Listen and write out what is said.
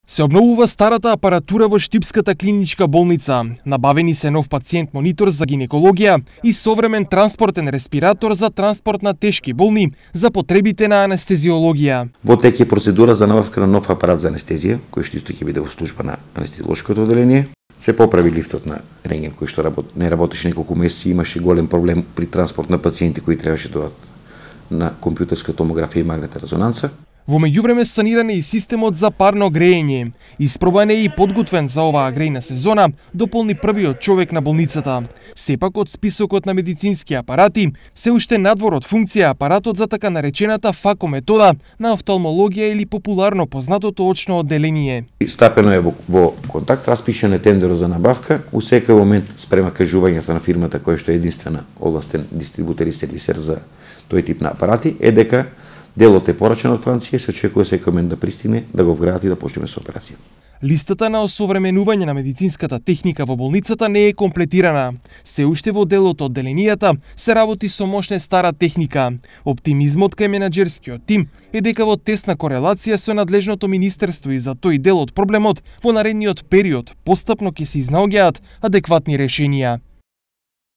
Се обновува старата апаратура во Штипската клиничка болница. Набавени се нов пациент монитор за гинекологија и современ транспортен респиратор за транспорт на тешки болни за потребите на анестезиологија. Во тек е процедура за набавка на нов апарат за анестезија, кој што исто ќе биде во служба на анестезиолошкото одделение. Се поправи лифтот на рентген кој што не работеше неколку месеци, имаше голем проблем при транспорт на пациенти кои требаше да дојдат на компјутерска томографија и магнетна резонанца. Во меѓувреме саниран е и системот за парно грејење. Испробан е и подготвен за оваа грејна сезона, дополни првиот човек на болницата. Сепак од списокот на медицински апарати, се уште надвор од функција апаратот за така наречената ФАКО метода на офталмологија или популарно познатото очно одделение. Стапено е во контакт, распишен е тендер за набавка, у секој момент спрема кажувањето на фирмата која што е единствена овластен дистрибутер и сервисер за тој тип на апарати, е дека делот е порачен од Франција, се очекува секој момент да пристигне, да го вградат и да почнеме со операција. Листата на осовременување на медицинската техника во болницата не е комплетирана. Се уште во делот од одделенијата се работи со мощна стара техника. Оптимизмот кај менаџерскиот тим е дека во тесна корелација со надлежното министерство и за тој дел од проблемот во наредниот период постапно ќе се изнаоѓаат адекватни решенија.